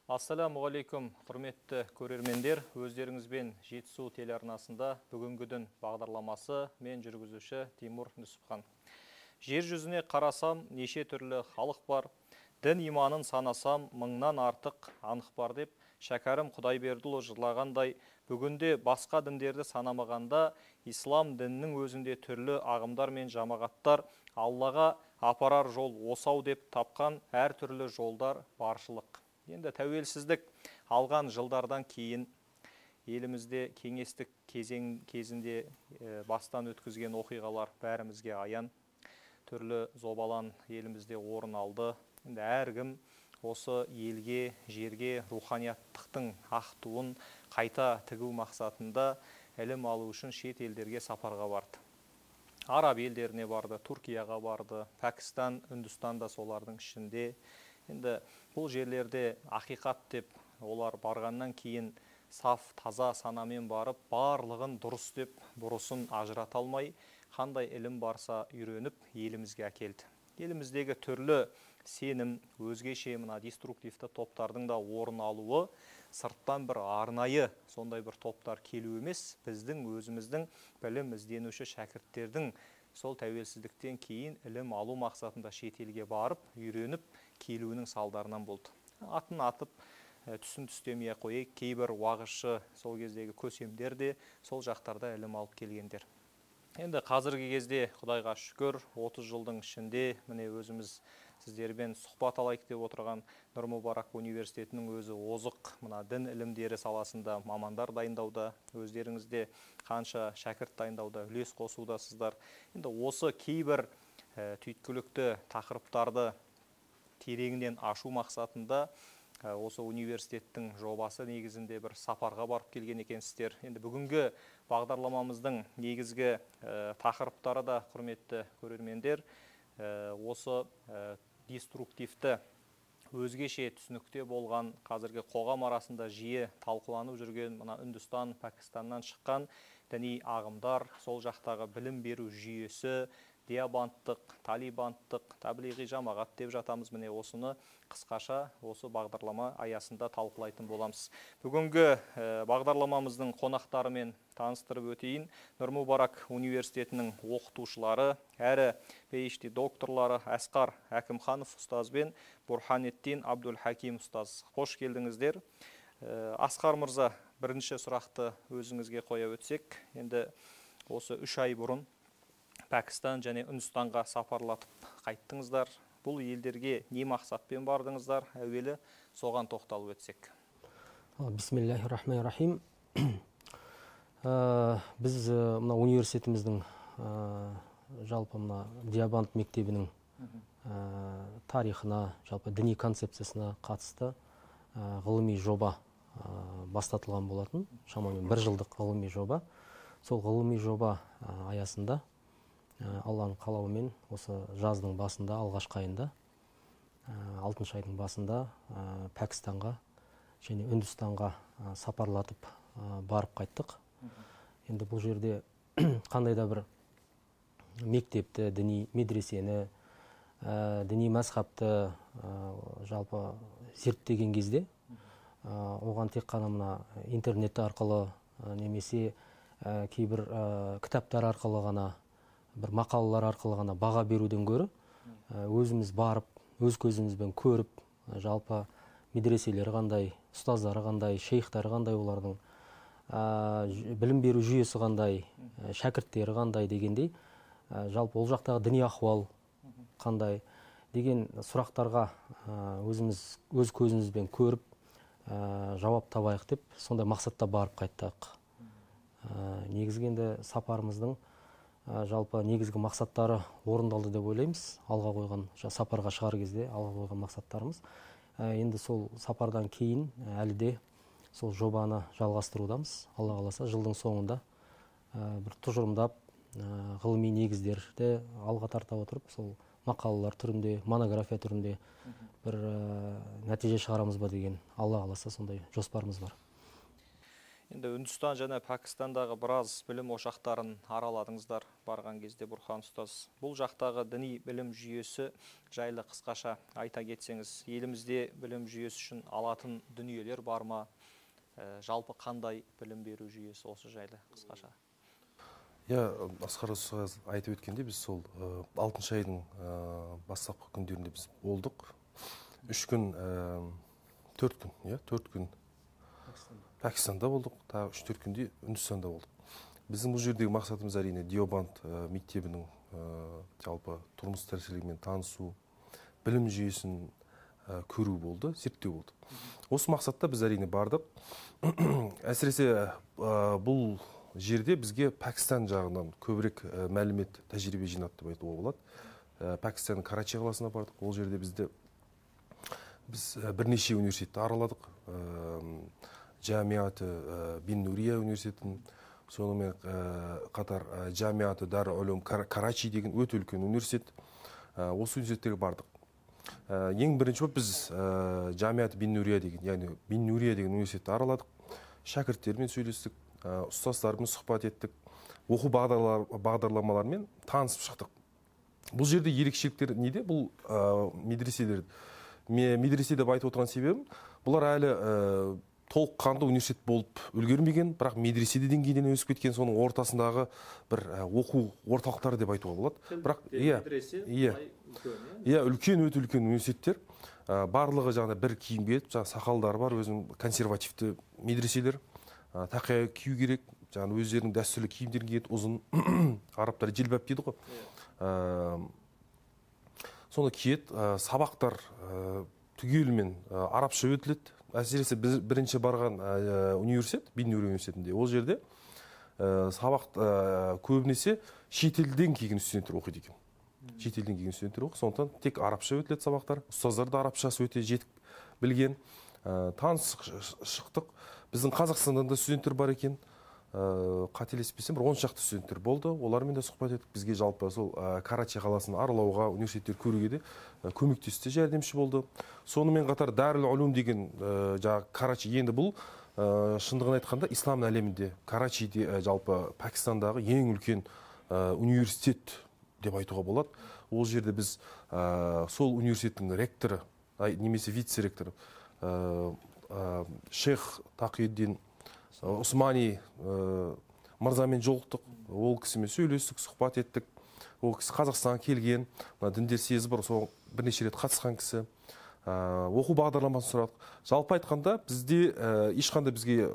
Ассалаумағалейкум, құрметті көрермендер. Өздеріңізбен Жетісу телеарнасында бүгінгідін бағдарламасы мен жүргізуші Тимур Нүсіпхан. Жер жүзіне қарасам, неше түрлі халық бар. Дін иманын санасам, мыңнан артық анық бар деп, Шәкәрім Құдайбердіұлы жырлағандай, бүгінде басқа діндерді санамағанда, ислам дінінің өзінде түрлі ағымдар мен жамағаттар Аллаға апарар жол осау деп тапқан әр түрлі жолдар баршылық. Енді тәуелсіздік алған жылдардан кейін елімізде кеңестік кезінде бастан өткізген оқиғалар бәрімізге аян. Түрлі зобалан елімізде орын алды. Енді әркім осы елге, жерге руханияттықтың ақ туын қайта тігу мақсатында ілім алу үшін шет елдерге сапарға барды. Араб елдеріне барды, Түркияға барды, Пәкістан, Үндістан да солардың ішінде. Енді бұл жерлерде ақиқат деп олар барғаннан кейін саф, таза санамен барып, барлығын дұрыс деп бұрысын ажырата алмай, қандай ілім барса үйреніп елімізге әкелді. Еліміздегі түрлі сенім, өзгеше мына деструктивті топтардың да орын алуы, сырттан бір арнайы сондай бір топтар келу емес, біздің өзіміздің білім ізденуші шәкірттердің сол тәуелсіздіктен кейін ілім алу мақсатында шетелге барып, үйреніп келуінің салдарынан болды. Атын атып, түсін түстемей қойып, кейбір уағызшы сол кездегі көсемдер де сол жақтарда ілім алып келгендер. Енді қазіргі кезде Құдайға шүкір 30 жылдың ішінде міне өзіміз сіздермен сұхбат алайық деп отырған Нұр Мүбарак университетінің өзі озық мына дін ілімдері саласында мамандар дайындауда, өздеріңізде қанша шәкірт дайындауда үлес қосудасыздар. Енді осы кейбір түйткілікті тақырыптарды тереңінен ашу мақсатында осы университеттің жобасы негізінде бір сапарға барып келген екенсіздер. Енді бүгінгі бағдарламамыздың негізгі тақырыптары да, құрметті көрермендер, осы деструктивті өзгеше түсінікте болған қазіргі қоғам арасында жиі талқыланып жүрген мына Үндістан, Пәкістаннан шыққан діни ағымдар, сол жақтағы білім беру жүйесі, диабанттық, талибанттық, таблиғи жамағат деп жатамыз. Міне осыны қысқаша осы бағдарлама аясында талқылайтын боламыз. Бүгінгі бағдарламамыздың қонақтарымен таныстырып өтейін. Нұр Мүбарак университетінің оқытушылары, әрі PhD докторлары Асқар Әкімханов ұстаз бен Бурханеттин Абдулхаким ұстаз. Қош келдіңіздер. Асқар мырза, бірінші сұрақты өзіңізге қоя өтсек, енді осы 3 ай бұрын Пәкістан және Үндістанға сапарлатып қайттыңыздар. Бұл елдерге не мақсатпен бардыңыздар? Әуелі соған тоқталып өтсек. Бисмиллахир-рахманир-рахим. Біз мына университетіміздің жалпы мына Диабант мектебінің тарихына, жалпы діни концепциясына қатысты ғылыми жоба бастатылған болатын. Шамамен 1 жылдық ғылыми жоба. Сол ғылыми жоба аясында Алланың қалауымен осы жаздың басында, алғашқы айында, 6 айдың басында Пәкістанға және Үндістанға сапарлатып барып қайттық. Енді бұл жерде қандай да бір мектепті, діни медресені, діни мәзһабты жалпы зерттеген кезде, оған тек қана мына интернет арқылы немесе кейбір кітаптар арқылы ғана, бір мақалалар арқылы ғана баға беруден гөрі, өзіміз барып, өз көзімізбен көріп, жалпы медреселері қандай, ұстаздары қандай, шейхтары қандай, олардың білім беру жүйесі қандай, шәкірттері қандай дегендей, жалпы ол жақтағы діни ахуал қандай деген сұрақтарға өзіміз өз көзімізбен көріп, жауап табайық деп, сондай мақсатта барып қайттық. Негізгенде сапарымыздың жалпы негізгі мақсаттары орындалды деп ойлаймыз. Алға қойған, сапарға шығар кезде алға қойған мақсаттарымыз. Енді сол сапардан кейін әлі де сол жобаны жалғастырудамыз. Алла қаласа жылдың соңында бір тұжырымдап, ғылыми негіздерді алға тарта отырып, сол мақалалар түрінде, монография түрінде бір нәтиже шығарамыз ба деген, Алла қаласа сондай жоспарымыз бар. Енді Үндістан және Пәкістандағы біраз білім ошақтарын араладыңыздар. барған кезде Бұрхан ұстаз, бұл жақтағы діни білім жүйесі жайлы қысқаша айта кетсеңіз, елімізде білім жүйесі үшін алатын дүниелер бар ма? Жалпы қандай білім беру жүйесі, осы жайлы қысқаша? Асқар ұстаз айтып өткенде, біз сол 6 айдың бастапқы күндерінде біз болдық. 3 күн, 4 күн, 4 күн Пәкістанда болдық, тағы 3-4 күнде Үндістанда болдық. Біздің бұл жердегі мақсатымыз әрине Деобанд мектебінің жалпы тұрмыс тіршілігімен танысу, білім жүйесін көру болды, зерттеу болды. Осы мақсатта біз әрине бардық. Әсіресе бұл жерде бізге Пәкістан жағынан көбірек мәлімет, тәжірибе жинатты деп айтуға болады. Пәкістанның Карачи қаласына бардық. Ол жерде біз бірнеше университетті араладық. Джамиаты Бин Нурия университетін, сонымен қатар Джамиаты Дар Улум Карачи деген өте үлкен университет. Осы университеттерге бардық. Ең бірінші болып біз Джамиаты Бин Нурия деген, яғни Бин Нурия деген университетті араладық. Шәкірттермен сөйлестік, ұстаздармен сұхбат еттік, оқу бағдарламаларымен танысып шықтық. Бұл жерде ерекшеліктер неде? Бұл медреселер. Медресе деп айтып отырған себебім, бұлар әлі толыққанды университет болып үлгермеген, бірақ медреседе деңгейден өсіп кеткен, соның ортасындағы бір оқу орталықтары деп айтуға болады. Бірақ үлкен, өте үлкен университеттер. Барлығы жаңағыда бір киім киіп, сақалдары бар, өзінің консервативті медреселер. Тақия кию керек, жаңағы өздерінің дәстүрлі киімдерін киеді, ұзын, арабтар желбәп дейді ғой. Соны киеді, сабақтар түгелімен арабша өтіледі. Әсіресе бірінші барған университет, Бин Нури университетінде, ол жерде сабақ көбінесе шетелден келген студенттер оқиды екен. Шетелден келген студенттер оқиды, сондықтан тек арабша өтіледі сабақтар. Ұстаздар да арабшасы өте жетік білген. Танысып шықтық. Біздің Қазақстандан да студенттер бар екен. Қателеспесем, бір 10 шақты студенттер болды. Олармен де сұхбат еттік. Бізге жалпы сол Карачи қаласын аралауға, университеттер көруге де көмектесті, жәрдемші болды. Сонымен қатар Дарул Улум деген Карачи, енді бұл шындығын айтқанда ислам әлемінде Карачиде жалпы Пәкістандағы ең үлкен университет деп айтуға болады. Ол жерде біз сол университеттің ректоры, немесе вице-ректоры Шейх Тақиеддин Усмани мырзамен жолықтық. Ол кісімен сөйлестік, сұхбат еттік. Ол кісі Қазақстанға келген, діндер съезі бар, сол бірнеше рет қатысқан кісі. Оқу бағдарламасын сұрадық. Жалпы айтқанда бізде ешқандай бізге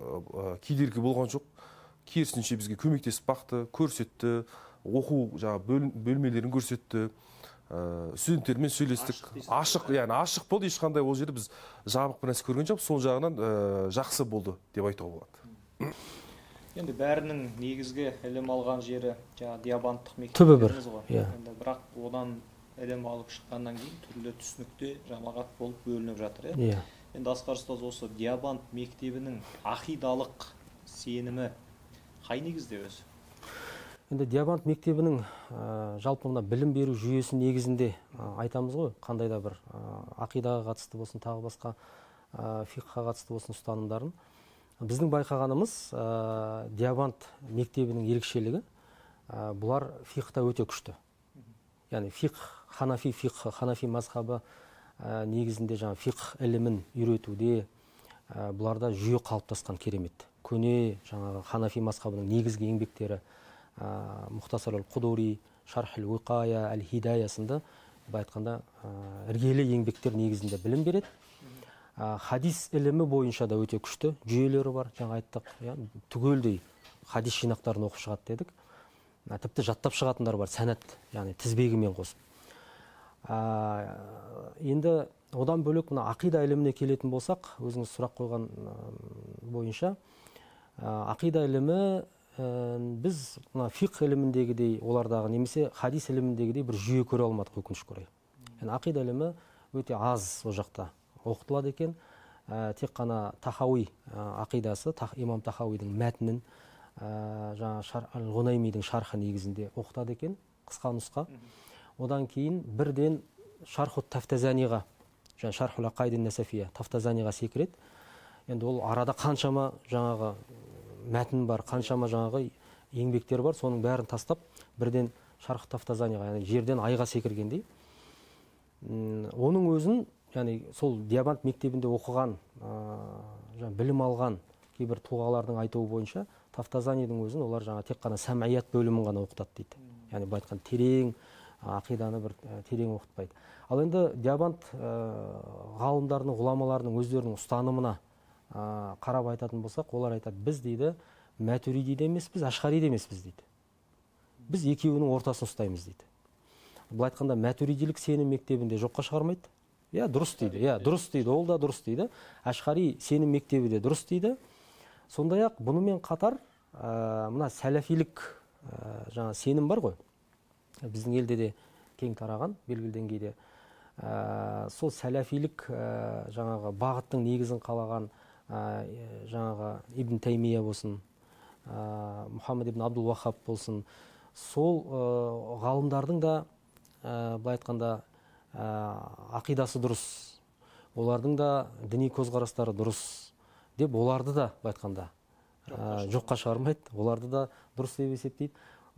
кедергі болған жоқ. Керісінше бізге көмектесіп бақты, көрсетті, оқу бөлмелерін көрсетті. Студенттермен сөйлестік. Ашық болды, ешқандай ол жерде біз жабық бір нәрсе көрген жоқ. Сол жағынан жақсы болды деп айтуға болады. Енді бәрінің негізгі ілім алған жері Деобандтық түбі бір. мектептеріміз ғой. Бірақ одан ілім алып шыққаннан кейін түрлі түсінікте жамағат болып бөлініп жатыр. Енді Асқар ұстаз, осы Деобанд мектебінің ақидалық сенімі қай негізде өзі? Енді Деобанд мектебінің жалпы мына білім беру жүйесі негізінде айтамыз ғой, қандай да бір ақидаға қатысты болсын, тағы басқа фиққа қатысты болсын ұстанымдарын. Біздің байқағанымыз Деобанд мектебінің ерекшелігі, бұлар фиқта өте күшті. Яғни ханафи мазхабы негізінде фиқ ілімін үйретуде бұларда жүйе қалыптасқан керемет. Көне ханафи мазхабының негізгі еңбектері Мұхтасар ал-Қудури, Шарх ал-Уиқая, Әл-Хидая сынды айтқанда іргелі еңбектер негізінде білім береді. Хадис ілімі бойынша да өте күшті жүйелері бар. Жаңа айттық, түгелдей хадис жинақтарын оқып шығады дедік. Тіпті жаттап шығатындар бар, сәнат, яғни тізбегімен қосып. Енді одан бөлек мына ақида іліміне келетін болсақ, өзіңіз сұрақ қойған бойынша, ақида ілімі біз фиқ іліміндегідей, олардағы немесе хадис іліміндегідей бір жүйе көре алмадық, өкінішке орай. Ақида ілімі өте аз о жақта оқытылады екен. Тек қана Тахауи ақидасы, имам Тахауидің мәтінін, Ғунаймидің шархы негізінде оқытады екен, қысқа нұсқа. Одан кейін бірден Шархут Тафтазаниға, Шархул Ақайдин Насафия, Тафтазаниға секіреді. Енді ол арада қаншама жаңағы мәтін бар, қаншама жаңағы еңбектер бар, соның бәрін тастап бірден шарқ тафтазанияға, яғни жерден айға секіргендей. Оның өзін, яғни сол Диабант мектебінде оқыған, білім алған кейбір тұлғалардың айтуы бойынша, тафтазанийдің өзін олар жаңа тек қана сәмәият бөлімін ғана оқытады дейді. Яғни былай айтқан терең ақиданы бір терең оқытпайды. Ал енді Диабант ғалымдарының, ғұламаларының өздерінің ұстанымына қарап айтатын болсақ, олар айтады, біз дейді, Мәтуриди де емеспіз, Ашғари де емеспіз дейді. Біз екеуінің ортасын ұстаймыз дейді. Бұл айтқанда Мәтуридилік сенім мектебінде жоққа шығармайды. Иә, дұрыс дейді. Иә, дұрыс дейді. Ол да дұрыс дейді. Ашғари сенім мектебі де дұрыс дейді. Сондай-ақ бұнымен қатар мына сәләфилік жаңа сенім бар ғой. Біздің елде де кең тараған белгілі деңгейде. Сол сәләфилік жаңағы бағыттың негізін қалаған жаңағы Ибн Таймия болсын, Мұхаммед ибн Абдул Вахаб болсын, сол ғалымдардың да былай айтқанда ақидасы дұрыс, олардың да діни көзқарастары дұрыс деп, оларды да былай айтқанда жоққа шығармайды, оларды да дұрыс деп есептейді.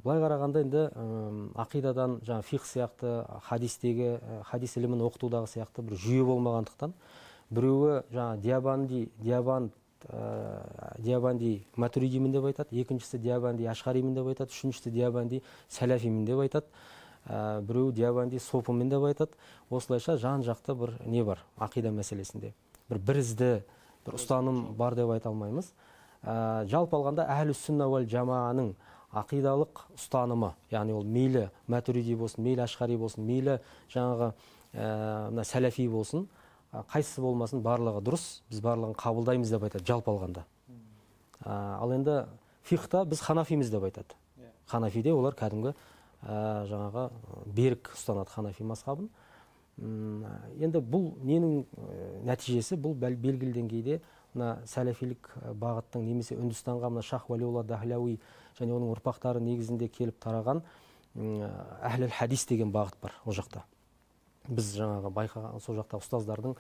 Былай қарағанда енді ақидадан жаңа фиқх сияқты, хадис ілімін оқытудағы сияқты бір жүйе болмағандықтан, біреуі жаңа Диабанди Матуридимін деп айтады, екіншісі Диабанди Ашғаримін деп айтады, үшіншісі Диабанди Сәләфимін деп айтады, біреуі Диабанди Сопымын деп айтады. Осылайша жан-жақты бір не бар ақида мәселесінде. Бір ізді, бір ұстаным бар деп айта алмаймыз. Жалпы алғанда әхлус сүнна уәл жамааның ақидалық ұстанымы, яғни ол мейлі Матуриди болсын, мейлі Ашғари болсын, мейлі жаңағы Сәләфи болсын, қайсысы болмасын барлығы дұрыс, біз барлығын қабылдаймыз деп айтады, жалпы алғанда. Ал енді фиқта біз ханафиміз деп айтады. Ханафиде олар кәдімгі жаңағы берік ұстанады ханафи мазхабын. Енді бұл ненің нәтижесі, бұл белгілі деңгейде сәләфилік бағыттың немесе Үндістанға Шах Валиулла Дахлауи және оның ұрпақтары негізінде келіп тараған әхліл хадис деген бағыт бар ол жақта. Біз жаңағы байқаған сол жақта ұстаздардың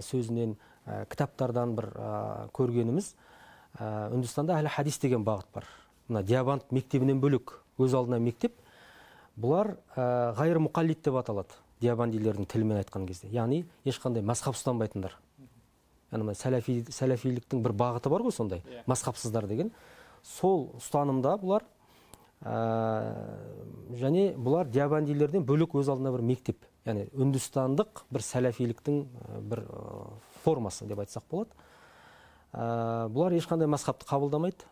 сөзінен, кітаптардан бір көргеніміз, Үндістанда әхлі хадис деген бағыт бар. Мына Диабант мектебінен бөлек өз алдына мектеп, бұлар ғайыр мұқаллид деп аталады, диабандилердің тілімен айтқан кезде. Яғни ешқандай мазхаб ұстанбайтындар. Яғни сәләфиліктің бір бағыты бар ғой сондай, мазхабсыздар деген. Сол ұстанымда бұлар және бұлар диабандилерден бөлек өз алдына бір мектеп, яғни үндістандық бір сәләфиліктің бір формасы деп айтсақ болады. Бұлар ешқандай мазхабты қабылдамайды.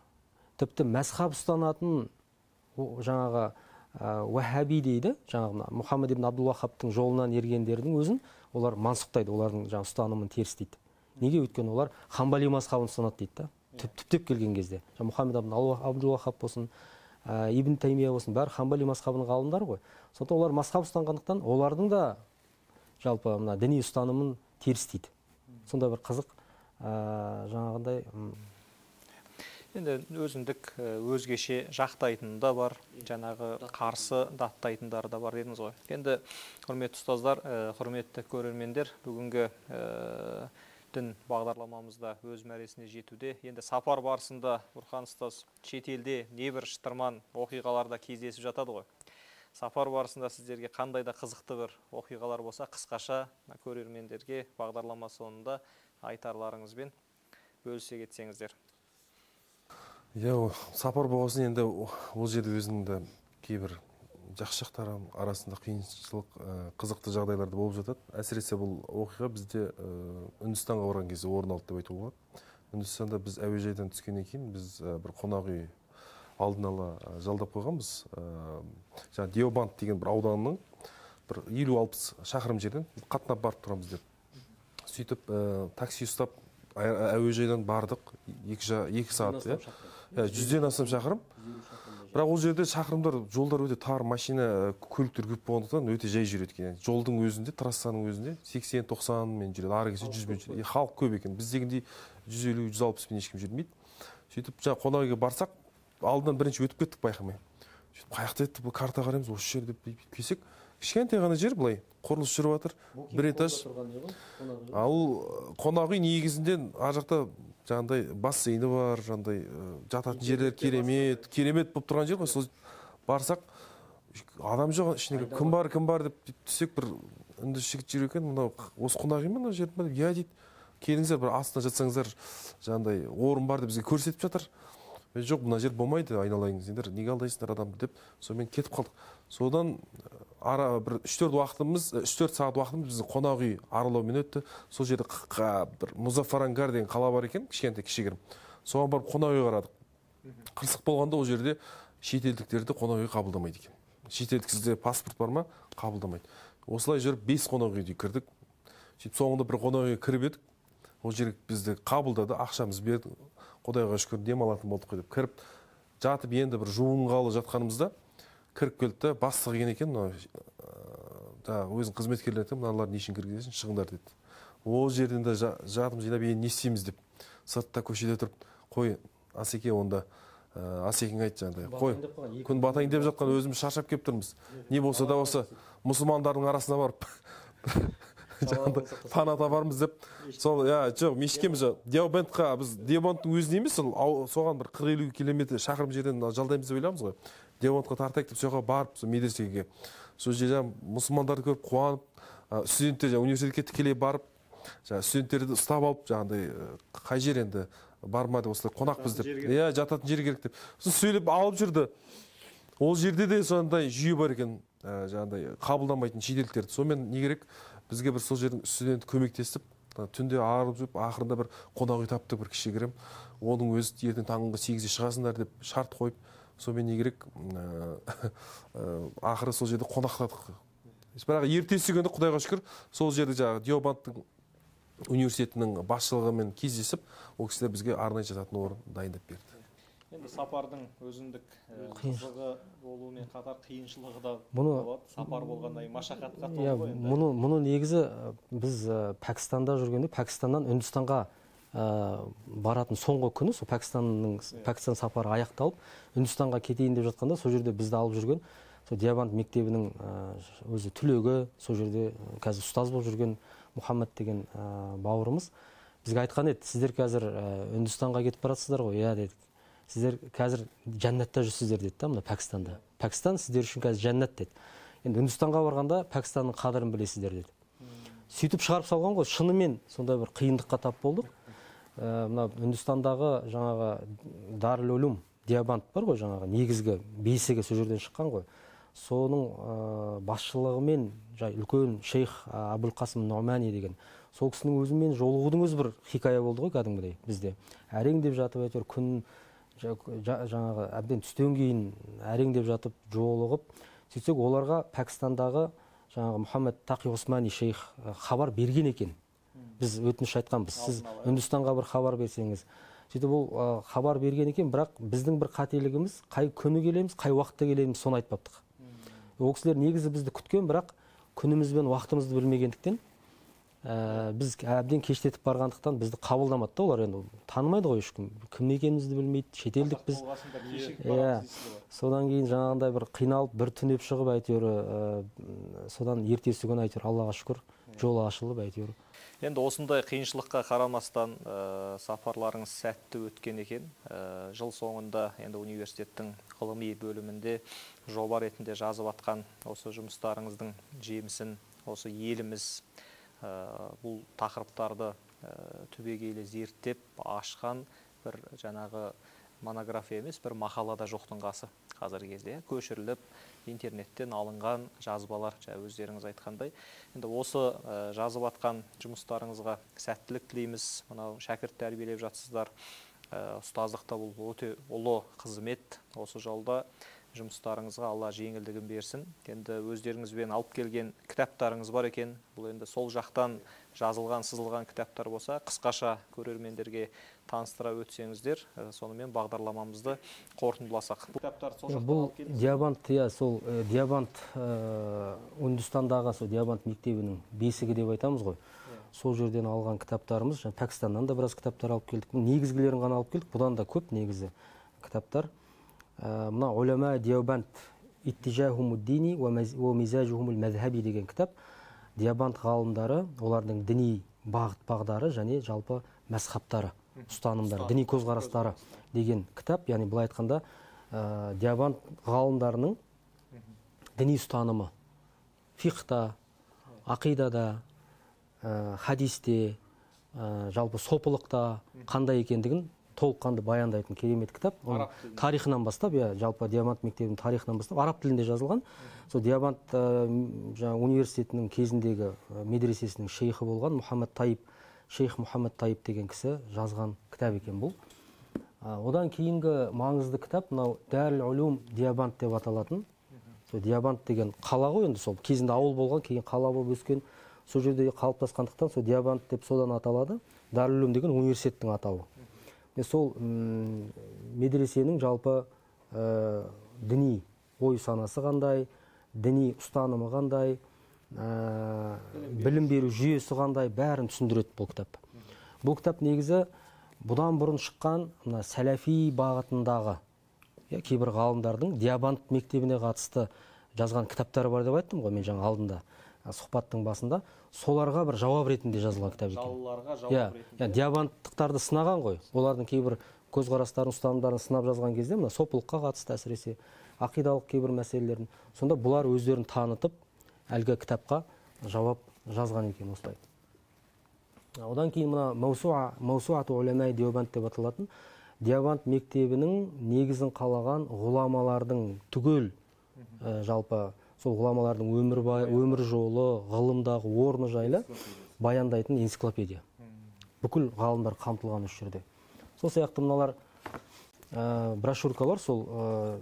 Тіпті мазхаб ұстанатын жаңағы уахаби дейді, жаңағы Мұхаммед ибн Абдул Вахабтың жолынан ергендердің өзін олар мансұқтайды, олардың жаңағы ұстанымын терістейді. Неге? Өйткені олар хамбали мазхабын ұстанады дейді. Түптеп келген кезде Мұхаммед ибн Абдул Вахаб болсын, Ибн Таймия болсын, бәрі хамбали мазхабының ғалымдары ғой. Сондықтан олар мазхаб ұстанғандықтан, олардың да жалпы мына діни ұстанымын терістейді. Сонда бір қызық жаңағындай. Енді өзіндік өзгеше жақтайтын да бар, жаңағы қарсы даттайтындар да бар дедіңіз ғой. Енді құрметті ұстаздар, құрметті көрермендер, бүгінгі дін бағдарламамызда өз мәресіне жетуде. Енді сапар барысында Бұрхан ұстаз шетелде небір шытырман оқиғаларда кездесіп жатады ғой. Сапар барысында сіздерге қандай да қызықты бір оқиғалар болса, қысқаша көрермендерге бағдарлама соңында айтарларыңызбен бөлісе кетсеңіздер. Сапар болғасын енді ол жерде өзінің де кейбір жақсы жақтары арасында қиыншылық, қызықты жағдайларды болып жатады. Әсіресе бұл оқиға бізде Үндістанға барған кезде орын алды деп айтуға болады. Үндістанда біз әуежайдан түскеннен кейін біз бір қонақ үй алдын ала жалдап қойғанбыз. Жаңа Диабант деген бір ауданның бір 50-60 шақырым жерден қатынап барып тұрамыз деп. Сөйтіп такси ұстап әуежайдан бардық 2 сағат. 100-ден астам шақырым. Бірақ ол жерде шақырымдар, жолдар өте тар, машина, көліктер көп болғандықтан өте жай жүреді екен. Жолдың өзінде, трассаның өзінде 80-90 мен жүреді, ары кетсе 100 мен жүреді. Халық көп екен. Біздегіндей 150-160 мен ешкім жүрмейді. Сөйтіп жаңа қонақ үйге барсақ, алдынан бірінші өтіп кеттік байқамай. Сөйтіп қаяқта еді, бұл карта қараймыз, осы жер деп келсек, кішкентай ғана жер былай, құрылыс жүріп жатыр, бір этаж. Ал қонақ үй негізінде ар жақта жаңағыдай бассейні бар, жаңағыдай жататын жерлер керемет болып тұрған жер ғой. Сол барсақ адам жоқ, ішінде кім бар деп түссек, бір үнді жігіт жүр екен, мынау осы қонақ үй ма мына жер ма деп, иә дейді, келіңіздер, бір астына жатсаңыздар, жаңағыдай орын бар деп бізге көрсетіп жатыр. Жоқ, мына жер болмайды, айналайыңыздар, неге алдайсыңдар адамды деп, сонымен кетіп қалдық. Содан ара бір 3-4 сағат уақытымыз біздің қонақ үй аралаумен өтті. Сол жерде бір Музаффарангар деген қала бар екен, кішігірім. Соған барып қонақ үй қарадық. Қырсық болғанда ол жерде шетелдіктерді қонақ үй қабылдамайды екен. Шетелдік сізде паспорт бар ма? Қабылдамайды. Осылай жүріп 5 қонақ үйде кірдік. Сөйтіп соңында бір қонақ үйге кіріп едік. Ол жер бізді қабылдады, ақшамыз берді. Құдайға шүкір демалатын болдық қой деп кіріп жатып, енді бір жуынғалы жатқанымызда кіріп келді, бастығы екен екен, өзінің қызметкерлері айтты, мыналар не үшін кіргізесің, шығыңдар деді. Ол жерден де жатып жинап, енді не істейміз деп сыртта көшеде тұрып, қой Асеке, онда Асекең айтты жаңағыдай, қой күн батайын деп жатқан, өзіміз шаршап келіп тұрмыз, не болса да осы мұсылмандардың арасына барып пана табармыз деп, сол жоқ мешкеміз Деобандқа, біз Деобандтың өзіне емес, соған бір 40-50 километр шақырым жерден жалдаймыз деп ойлаймыз ғой. Деобандқа тартайық деп соға барып, медресеге сол жерде мұсылмандарды көріп қуанып, студенттер университетке тікелей барып, студенттерді ұстап алып, жаңағыдай қай жер енді барма деп, осылай қонақпыз деп, жататын жер керек деп сөйлеп алып жүрді. Ол жерде де сондай жүйе бар екен, жаңағыдай қабылдамайтын шетелдіктерді. Сонымен не керек, бізге бір сол жердің студенті көмектесіп, түнде арылып жүріп, ақырында бір қонақ үй таптық, бір кішігірім. Оның өзі ертең таңғы 8-де шығасыңдар деп шарт қойып, сонымен не керек, ақыры сол жерде қонақтадық. Бірақ ертесі күні Құдайға шүкір, сол жерде жаңағы Деобандтың университетінің басшылығымен кездесіп, ол кісілер бізге арнайы жататын орын дайындап берді. Енді сапардың өзіндік қызығы болуымен қатар қиыншылығы да болады. Сапар болғанда машақатқа толы ғой енді. Мұны негізі біз Пәкістанда жүргенде, Пәкістаннан Үндістанға баратын соңғы күні, сол Пәкістан сапары аяқталып, Үндістанға кетейін деп жатқанда, сол жерде бізді алып жүрген, сол Деобанд мектебінің өзі түлегі, сол жерде қазір ұстаз болып жүрген Мұхаммед деген бауырымыз бізге айтқан еді, сіздер қазір Үндістанға кетіп барасыздар ғой, иә дедік. Сіздер қазір жәннатта жүрсіздер деді да, мына Пәкістанда. Пәкістан сіздер үшін қазір жәннат деді. Енді Үндістанға барғанда Пәкістанның қадірін білесіздер деді. Сөйтіп шығарып салған ғой, шынымен сондай бір қиындыққа тап болдық. Мына Үндістандағы жаңағы Дарул Улум Деобанд бар ғой, жаңағы негізгі бесігі сол жерден шыққан ғой. Соның басшылығымен үлкен шейх Абул Қасым Нұғмани деген сол кісінің өзімен жолығудың өзі бір хикая болды ғой кәдімгідей бізде. Әрең деп жатып әйтеуір күн жаңағы әбден түстен кейін әрең деп жатып жолығып, сөйтсек оларға Пәкістандағы жаңағы Мұхаммед Тақи Османи шейх хабар берген екен. Біз өтініш айтқанбыз, сіз Үндістанға бір хабар берсеңіз. Сөйтіп ол хабар берген екен, бірақ біздің бір қателігіміз, қай күні келеміз, қай уақытта келеміз, соны айтпаптық. Ол кісілер негізі бізді күткен, бірақ күніміз бен уақытымызды білмегендіктен, біз әбден кештетіп барғандықтан бізді қабылдамады да олар. Енді танымайды ғой ешкім, кім екенімізді білмейді, шетелдік біз. Содан кейін жаңағындай бір қиналып, бір түнеп шығып әйтеуір, содан ертесі күні әйтеуір Аллаға шүкір жолы ашылып әйтеуір. Енді осындай қиыншылыққа қарамастан сапарларыңыз сәтті өткен екен. Жыл соңында енді университеттің ғылыми бөлімінде жоба ретінде жазып атқан осы жұмыстарыңыздың жемісін осы еліміз бұл тақырыптарды түбегейлі зерттеп ашқан бір жаңағы монография емес, бір мақалада жоқтың қасы қазіргі кезде көшіріліп интернеттен алынған жазбалар, өздеріңіз айтқандай. Енді осы жазып атқан жұмыстарыңызға сәттілік тілейміз. Мынау шәкірт тәрбиелеп жатсыздар. Ұстаздықта бұл өте ұлы қызмет. Осы жолда жұмыстарыңызға Алла жеңілдігін берсін. Енді өздеріңізбен алып келген кітаптарыңыз бар екен. Бұл енді сол жақтан жазылған, сызылған кітаптар болса, қысқаша көрермендерге таныстыра өтсеңіздер, сонымен бағдарламамызды қорытындыласақ. Бұл Деобанд, сол Деобанд Үндістандағы сол Деобанд мектебінің бесігі деп айтамыз ғой. Сол жерден алған кітаптарымыз, Пәкістаннан да біраз кітаптар алып келдік. Негізгілерін ғана алып келдік, бұдан да көп негізі кітаптар. Мына Улама Деобанд иттижахумуддини ва мизажухумул мазхаби деген кітап. Деобанд ғалымдары, олардың діни бағыт бағдары және жалпы мәзһабтары, ұстанымдары, діни көзқарастары деген кітап. Яғни былай айтқанда Деобанд ғалымдарының діни ұстанымы фиқта, ақидада, хадисте, жалпы сопылықта қандай екендігін толыққанды баяндайтын керемет кітап. Тарихынан бастап, жалпы Деобанд мектебінің тарихынан бастап араб тілінде жазылған. Сол Деобанд университетінің кезіндегі медресесінің шейхі болған шейх Мұхаммед Таиб деген кісі жазған кітап екен бұл. Одан кейінгі маңызды кітап мынау Дарул Улум Деобанд деп аталатын. Деобанд деген қала ғой, енді сол кезінде ауыл болған, кейін қала болып өскен, сол жерде қалыптасқандықтан сол Деобанд деп содан аталады. Дарул Улум деген университеттің атауы. Сол медресенің жалпы діни ой санасы қандай, діни ұстанымы қандай, білім беру жүйесі қандай, бәрін түсіндіреді бұл кітап. Бұл кітап негізі бұдан бұрын шыққан сәләфи бағытындағы кейбір ғалымдардың Деобанд мектебіне қатысты жазған кітаптары бар деп айттым ғой мен жаңа алдында сұхбаттың басында. Соларға бір жауап ретінде жазылған кітап екен. Жалыларға жауап ретінде. Деобандтықтарды сынаған ғой. Олардың кейбір көзқарастарын, ұстанымдарын сынап жазған кезде мына сопылыққа қатысты әсіресе ақидалық кейбір мәселелерін. Сонда бұлар өздерін танытып, әлгі кітапқа жауап жазған екен осылай. Одан кейін мына Маусуату Уламаи Деобанд деп аталатын Деобанд мектебінің негізін қалаған ғұламалардың түгел жалпы сол ғұламалардың өмір жолы, ғылымдағы орны жайлы баяндайтын энциклопедия. Бүкіл ғалымдар қамтылған үш жерде. Сол сияқты мыналар брошюркалар, сол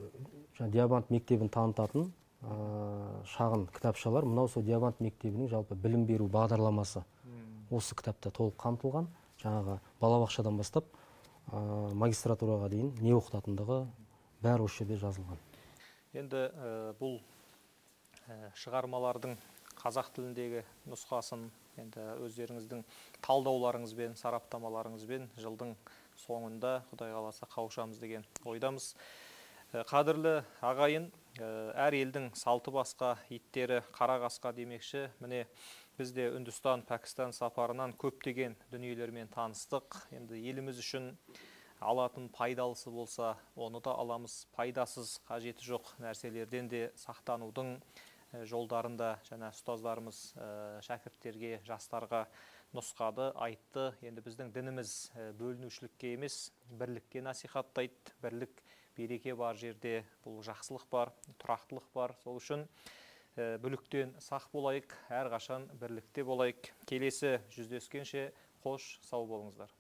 Деобанд мектебін танытатын шағын кітапшалар. Мынау сол Деобанд мектебінің жалпы білім беру бағдарламасы осы кітапта толық қамтылған. Жаңағы балабақшадан бастап магистратураға дейін не оқытатындығы бәрі осы жерде жазылған. Енді бұл шығармалардың қазақ тіліндегі нұсқасын енді өздеріңіздің талдауларыңызбен, сараптамаларыңызбен жылдың соңында Құдай қаласа қауышамыз деген ойдамыз. Қадірлі ағайын, әр елдің салты басқа, иттері қара қасқа демекші. Міне бізде Үндістан, Пәкістан сапарынан көптеген дүниелермен таныстық. Енді еліміз үшін алатын пайдалысы болса, оны да аламыз. Пайдасыз, қажеті жоқ нәрселерден де сақтанудың жолдарында жаңа ұстаздарымыз шәкірттерге, жастарға нұсқады, айтты. Енді біздің дініміз бөлінушілікке емес, бірлікке насихаттайды. Бірлік, береке бар жерде бұл жақсылық бар, тұрақтылық бар. Сол үшін бүліктен сақ болайық, әрқашан бірлікте болайық. Келесі жүздескенше қош, сау болыңыздар.